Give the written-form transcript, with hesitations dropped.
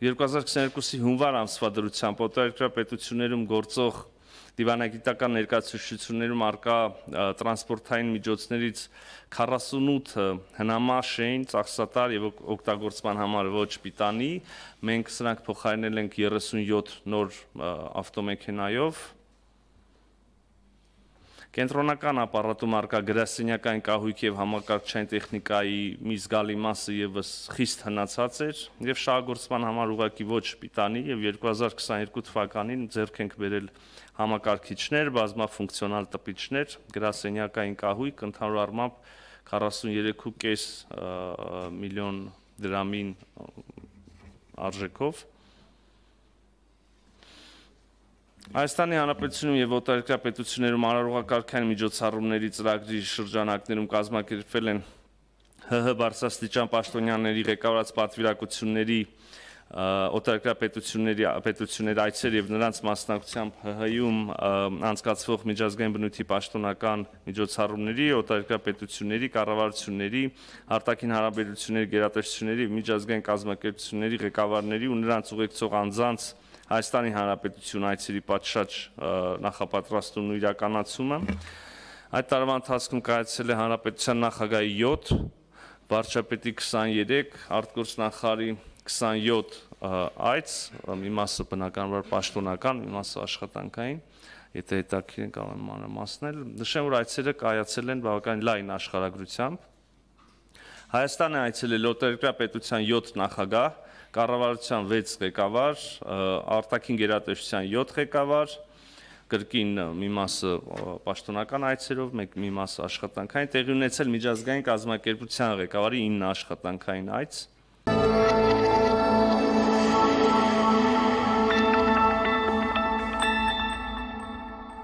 2022-ի հունվար ամսվա դրությամբ օտարերկրյա պետություններում գործող դիվանագիտական ներկայացուցչություններում արկա տրանսպորտային միջոցներից 48-ը հնամաշ էին, ծախսատար եւ օգտագործման համար ոչ պիտանի, մենք սրանք փոխարինել ենք 37 նոր ավտոմեքենայով։ Կենտրոնական ապարատում արկա գրասենյակային կահույք եւ համակարգչային տեխնիկայի մի զգալի մասը եւս խիստ հնացած էր եւ շահագործման համար ուղղակի ոչ պիտանի եւ 2022 թվականին ձեռք ենք բերել համակարգիչներ, բազմաֆունկցիոնալ տպիչներ, գրասենյակային կահույք ընդհանուր առմամբ 43.5 միլիոն դրամին արժեքով։ Հայաստանի Հանրապետությունում եւ օտարերկրյա պետություններում արարողակարգային միջոցառումների ծրագրի շրջանակներում կազմակերպվել են ՀՀ բարձրաստիճան պաշտոնյաների ղեկավարած պատվիրակությունների օտարերկրյա պետությունների այցեր եւ նրանց մասնակցությամբ ՀՀ-ում անցկացվող միջազգային բնույթի պաշտոնական միջոցառումների, օտարերկրյա պետությունների, կառավարությունների, արտաքին հարաբերությունների գերատեսչությունների եւ միջազգային կազմակերպությունների ղեկավարների ու նրանց ուղեկցող անձանց Հայաստանի Հանրապետություն այցերի պատշաճ նախապատրաստումն ու իրականացումը։ Այդ տարվա ընթացքում կայացել է Հանրապետության նախագահի 7, վարչապետի 23, արտգործնախարարի 27 այց, մի մասը բնականաբար պաշտոնական, մի մասը աշխատանքային, եթե հետաքրքիր են կարող եմ մանրամասնել։ Նշեմ, որ այցերը կայացել են բավականին լայն աշխարհագրությամբ։ Հայաստան է այցելել օտարերկրյա պետության 7 նախագահ, կառավարության 6 ղեկավար, արտաքին գերատեսչության 7 ղեկավար, կրկին մի մասը պաշտոնական այցերով, մի մասը աշխատանքային, տեղի ունեցել միջազգային կազմակերպության ղեկավարի 9 աշխատանքային այց։